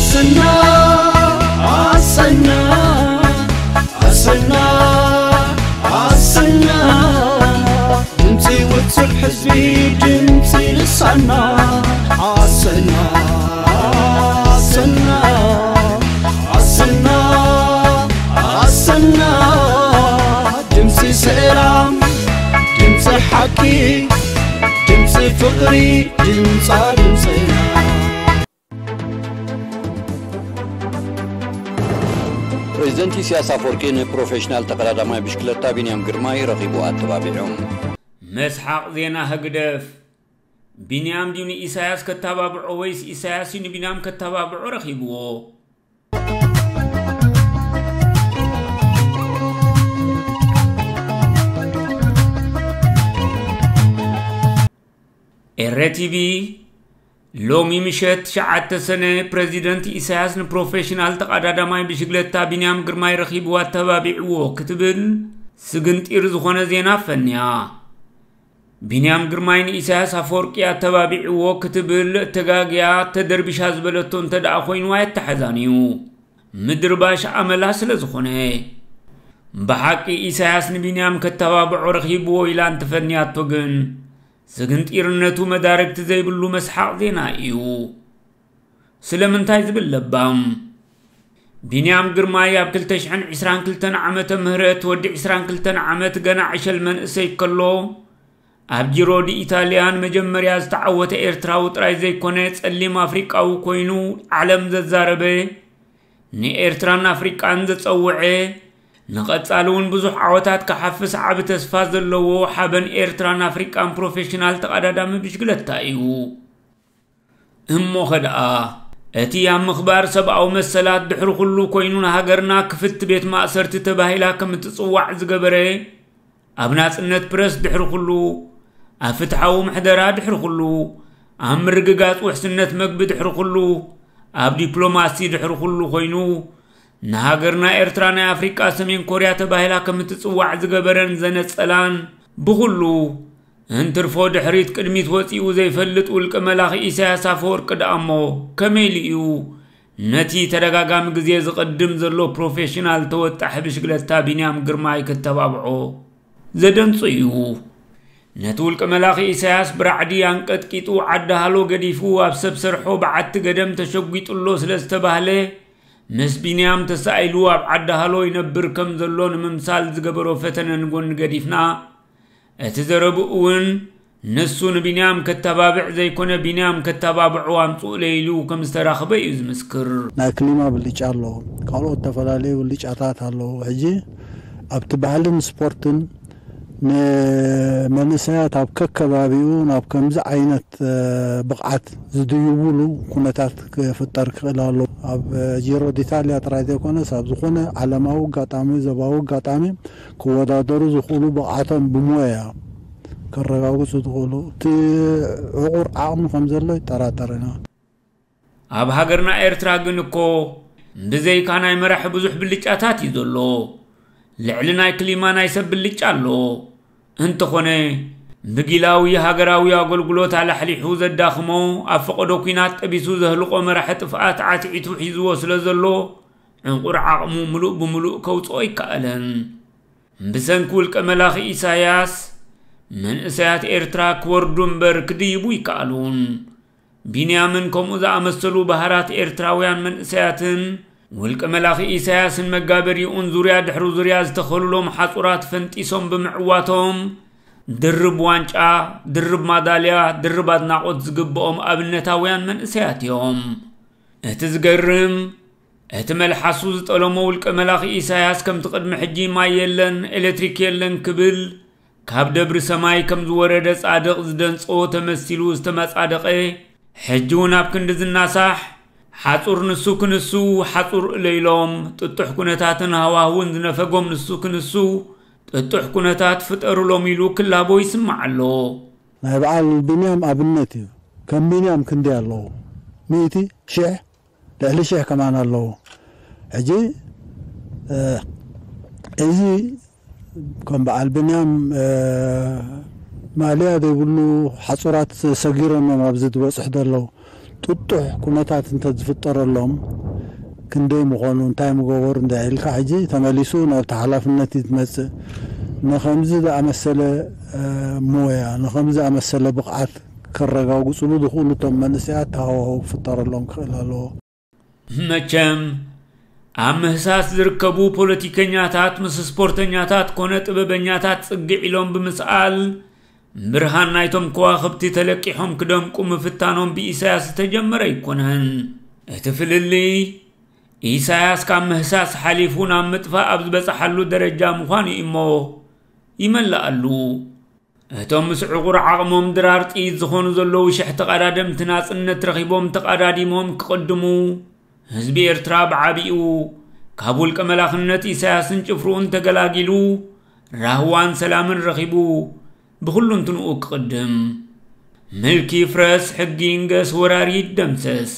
ኣሰና ኣሰና ኣሰና ኣሰና ድምፂ ውፅዕ ህዝቢ ድምፂ ልሳና ኣሰና ኣሰና ኣሰና ኣሰና ድምፂ ሰላም ድምፂ ሓቂ ድምፂ ፍቕሪ ድምፃ ድምፅና ፕሬዚደንት ኢሳያስ ኣፈወርቂ ንፕሮፌሽናል ተቐዳዳማይ ብሽክለታ ቢንያም ግርማይ ረኺቡ ኣተባቢዑ። መስሓቕ ዜና ህግደፍ። ቢንያም ድዩ ንኢሳያስ ከተባብዖ ወይስ ኢሳያስ እዩ ንቢንያም ከተባብዖ ረኺብዎ? ኤረ ቲቪ ሎሚ ምሸት ትሽዓተ ሰነ ፕረዚደንት ኢሳያስ ንፕሮፌሽናል ተቓዳዳማይ ብሽግለታ ቢንያም ግርማይ ረኺብዎ ኣተባቢዕዎ ክትብል ስግንጢር ዝኾነ ዜና ኣፈንያ። ቢንያም ግርማይ ንኢሳያስ ኣፈወርቂ ኣተባቢዕዎ ክትብል ተጋግያ ተደርቢሻ ዝበለቶ እንተ ደኣ ኮይንዋ የተሓዛን እዩ። ምድርባሽ ኣመላ ስለ ዝኾነ። ብሓቂ ኢሳያስ ንቢንያም ከተባብዖ ረኺብዎ ኢላ እንተፈንያቶ ግን ስግንጢርነቱ መዳርግቲ ዘይብሉ መስሓቕ ዜና እዩ። ስለምንታይ ዝብል ለባም። ቢንያም ግርማይ ኣብ ክልተ ሽሕን ዕስራን ክልተን ዓመተ ምህረት ወዲ ዕስራን ክልተን ዓመት ገና ዕሸል መንእሰይ ከሎ ኣብ ጂሮ ዲ ኢታልያን መጀመርያ ዝተዓወተ ኤርትራዊ ጥራይ ዘይኮነ ጸሊም ኣፍሪቃዊ ኮይኑ ዓለም ዘዛረበ ንኤርትራን ኣፍሪቃን ዘጸውዐ ንቐጻሊ እውን ብዙሕ ዓወታት ክሓፍስ ዓቢ ተስፋ ዘለዎ ሓበን ኤርትራን ኣፍሪቃን ፕሮፌሽናል ተቐዳዳሚ ብሽግለታ እዩ። እሞኸ ደኣ እቲ ኣብ ምኽባር ሰብኣዊ መሰላት ድሕሪ ኩሉ ኮይኑ ንሃገርና ክፍቲ ቤት ማእሰርቲ ተባሂላ ከም እትጽዋዕ ዝገበረ ኣብ ናጽነት ፕረስ ድሕሪ ኩሉ ኣብ ፍትሓዊ ምሕደራ ድሕሪ ኩሉ ኣብ ምርግጋጽ ውሕስነት መግቢ ድሕሪ ኩሉ ኣብ ዲፕሎማሲ ድሕሪ ኩሉ ኮይኑ ንሃገርና ኤርትራ ናይ ኣፍሪቃ ሰሜን ኮርያ ተባሂላ ከም እትጽዋዕ ዝገበረን ዘነጸላን ብኹሉ እንትርፎ ድሕሪት ቅድሚት ወጺኡ ዘይፈልጥ ውልቀ መላኺ ኢሳያስ ኣፈወርቂ ደኣ እሞ ከመይ ኢሉ እዩ ነቲ ተደጋጋሚ ግዜ ዝቕድም ዘሎ ፕሮፌሽናል ተወጣሒ ብሽግለታ ቢንያም ግርማይ ክተባብዖ ዘደንጹ እዩ። ነቲ ውልቀ መላኺ ኢሳያስ ብራዕዲ ኣንቀጥቂጡ ዓዲ ሃሎ ገዲፉ ኣብ ሰብ ሰርሖ በዓቲ ገደም ተሸጒጡ ኣሎ ስለ ዝተባህለ ምስ ቢንያም ተሳኢሉ ኣብ ዓዲ ሃሎ ይነብር ከም ዘሎ ንምምሳል ዝገበሮ ፈተነ ንጎኒ ገዲፍና እቲ ዘረብኡ እውን ንሱ ንቢንያም ከተባብዕ ዘይኮነ ቢንያም ከተባብዑ ኣምፅኡለይ ኢሉ ከም ዝተራኽበ እዩ ዝምስክር። ናይ ክሊማ ብልጫ ኣሎ፣ ካልኦት ዝተፈላለዩ ብልጫታት ኣለዉ። ሕጂ ኣብቲ ባህልን ስፖርትን ንመንእሰያት ኣብ ከከባቢኡ ናብ ከምዚ ዓይነት ብቕዓት ዝድይቡሉ ኩነታት ክፍጠር ክኽእል ኣሎ። ኣብ ጂሮ ዲታልያ ጥራይ ዘይኮነስ ኣብ ዝኾነ ዓለማዊ ኣጋጣሚ፣ ዞባዊ ኣጋጣሚ ክወዳደሩ ዝኽእሉ ብቕዓቶም ብሞያ ከረጋግፁ ዝኽእሉ እቲ ዕቑር ዓቕሚ ከም ዘሎ ይጠራጠር ኢና። ኣብ ሃገርና ኤርትራ ግን እኮ ብዘይካ ናይ መራሒ ብዙሕ ብልጫታት እዩ ዘሎ። ልዕሊ ናይ ክሊማ ናይ ሰብ ብልጫ ኣሎ። እንተኾነ ብጊላዊ ሃገራዊ ኣገልግሎት ኣላሕሊሑ ዘዳኽሞ ኣብ ፈቐዶ ኲናት ጠቢሱ ዘህልቖ መራሒ ጥፍኣት ዓትዒቱ ሒዝዎ ስለ ዘሎ ዕቑር ዓቕሙ ምሉእ ብምሉእ ከውፅኦ ኣይከኣለን። ብሰንኪ ውልቀ መላኺ ኢሳያስ መንእሰያት ኤርትራ ክወርዱ እምበር ክድይቡ ኣይከኣሉን። ቢንያምን ከምኡ ዝኣመሰሉ በሃራት ኤርትራውያን መንእሰያትን ውልቀ መላኺ ኢሳያስን መጋበሪኡን ዙርያ ድሕሪ ዙርያ ዝተኸሉሎም ሓጹራት ፈንጢሶም ብምዕዋቶም ድርብ ዋንጫ፣ ድርብ ማዳልያ፣ ድርብ ኣድናቖት ዝግብኦም ኣብነታውያን መንእሰያት እዮም። እቲ ዝገርም እቲ መልሓሱ ዝጠለሞ ውልቀ መላኺ ኢሳያስ ከምቲ ቅድሚ ሕጂ ማይ የለን ኤሌክትሪክ የለን ክብል ካብ ደብሪ ሰማይ ከም ዝወረደ ጻድቕ ዝደንጸዎ ተመሲሉ ዝተመጻደቐ፣ ሕጂ እውን ኣብ ክንዲ ዝናሳሕ፣ ሓጹር ንሱ ክንሱ፣ ሓጹር እለይሎም፣ ጥጡሕ ኩነታትን ሃዋህውን ዝነፈጎም ንሱ ክንሱ፣ ጥጡሕ ኩነታት ፍጠሩሎም ኢሉ ክላቦ ይስማዕ ኣሎ። ናይ በዓል ቢንያም ኣብነት እዩ። ከም ቢንያም ክንደይ ኣለዉ? ሚእቲ፣ ሽሕ፣ ልዕሊ ሽሕ ከማን ኣለዉ። ሕጂ እዚ ከም በዓል ብንያም ማእለያ ዘይብሉ ሓፁራት ሰጊሮም እዮም ኣብዚ ዝበፅሑ ዘለዉ። ብጡሕ ኩነታት እንተዝፍጠረሎም ክንደይ ምኾኑ፣ እንታይ ምገበሩ እንዳ ኢልካ ሕጂ ተመሊሱ ናብቲ ሓላፍነት እዩ ዝመጽእ። ንኸምዚ ዝኣመሰለ ሞያ፣ ንኸምዚ ዝኣመሰለ ብቕዓት ከረጋግጽሉ ዝኽእሉ እቶም መንእሰያት ተሃዋህው ክፍጠረሎም ክኽእል ኣለዎ። መቸም ኣብ ምህሳስ ዝርከቡ ፖለቲከኛታት ምስ ስፖርተኛታት ኮነ ጥበበኛታት ጽግዕ ኢሎም ብምስኣል ብርሃን ናይቶም ከዋኽብቲ ተለቂሖም ክደምቁ ምፍታኖም ብኢሳያስ ዝተጀመረ ኣይኮነን። እቲ ፍልልይ ኢሳያስ ካብ ምህሳስ ሓሊፉ ናብ ምጥፋእ ኣብ ዝበጽሓሉ ደረጃ ምዃኑ እዩ እሞ ይመልኣሉ። እቶም ምስ ዕቑር ዓቕሞም ድራር ጥይት ዝኾኑ ዘለዉ ሽሕ ተቐዳደምቲ ናጽነት ረኺቦም ተቐዳዲሞም ክቕድሙ ህዝቢ ኤርትራ ብዓቢኡ ካብ ውልቀ መላኽነት ኢሳያስን ጭፍርኡን ተገላጊሉ ራህዋን ሰላምን ረኺቡ ብኹሉ እንትንኡ ክቕድም። ምልኪ ይፍረስ፣ ሕጊ ይንገስ፣ ወራሪ ይደምሰስ።